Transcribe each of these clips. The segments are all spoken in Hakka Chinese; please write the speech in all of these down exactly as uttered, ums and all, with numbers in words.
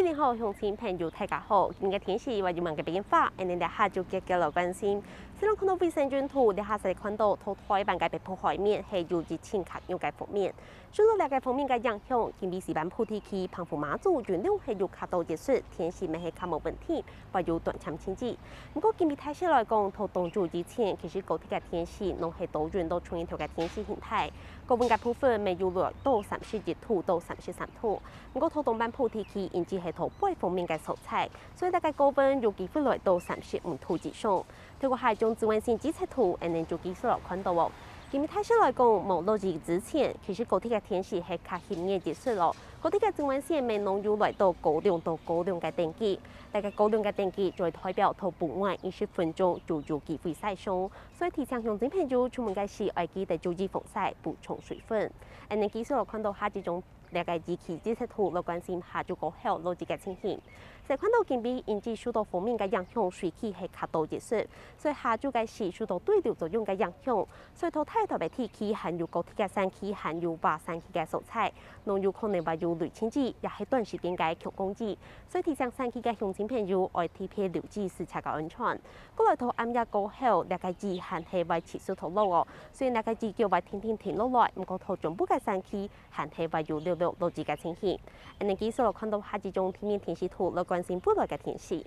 你好，鄉親朋友，大家好！今日个天氣會有麼个變化？𠊎等這下就遽遽來關心。先來看到衛星雲圖，這下係看到在臺灣个北部海面係有一陣較弱个鋒面。受到這个鋒面个影響，今晡日西半部地區、澎湖、馬祖、雲林係有較多雨水，天氣乜係較無穩定，會有短暫陣雨。毋過今晡日大勢來講，在當晝以前，其實高低个天氣攏係多雲到全日頭个天氣形態。高溫个部分，乜有來到三十一度到三十三度。 毋過在東半部地區，因為係在背鋒面个所在，所以大家高溫有機會來到三十五度以上。透過下一張紫外線預測圖，𠊎等就繼續來看到哦。今晡日大勢來講，無落雨之前，其實高低个天氣係較炎熱一息咯。高低个紫外線乜攏有來到高亮到高亮个等級，大家高亮个等級就會代表在戶外二十分鐘就有機會曬傷，所以提醒鄉親朋友出門个時愛記得注意防曬、補充水分。𠊎等繼續來看到下一張 這个預期預測圖來關心下晝過後落雨个情形。先看到今晡日因為受到鋒面个影響，水氣係較多一息，所以下晝个時受到對流作用个影響，所以在大台北地區還有高低个山區，還有外山區个所在，攏有可能會有雷陣雨，也係短時間个強降雨。所以提醒山區个鄉親朋友愛特別留意駛車个安全。過來在暗夜過後，這个雨還係會持續在落哦，所以這个雨腳會定定停落來，毋過在中部个山區 還係會有略略落雨个情形。𠊎等繼續來看到下一張地面天氣圖來關心未來个天氣。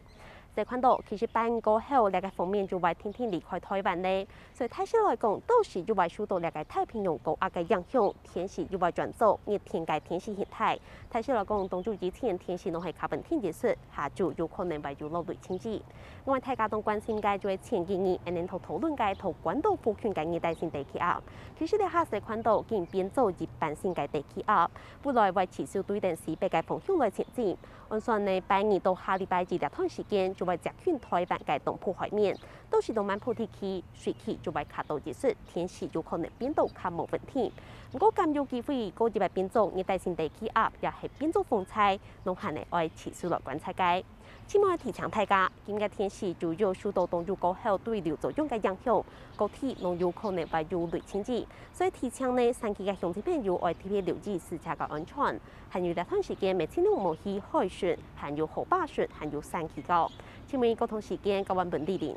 先看到，其實拜五過後，這个鋒面就會定定離開台灣咧，所以大勢來講，到時就會受到這个太平洋高壓个影響，天時就會轉做熱天个天氣形態。大勢來講，當晝以前天時攏係較穩定一息，下晝有可能會有落雷陣雨。另外，大家當關心个就係前幾日，𠊎等討討論个在關島附近个熱帶性低氣壓。 其實這下先看到已經變做一般性个低氣壓，未來會持續對等西北个方向來前進。按算呢，拜二到下禮拜一這段時間就會接近台灣个東部海面，到時東半部地區水氣就會較多一息，天時有可能變到較無穩定。毋過敢有機會過一擺變做熱帶性低氣壓，也係變做風颱，攏還係愛持續來觀察个。 盡尾提醒大家，今日天時主要受到東北過後對流作用个影響，高低攏有可能會有雷陣雨，所以提醒呢，山區个鄉親朋友愛特別留意駛車个安全。還有這段時間，乜盡量莫去海脣，還有河壩脣，還有山區个。盡尾交通時間交還分蒞臨。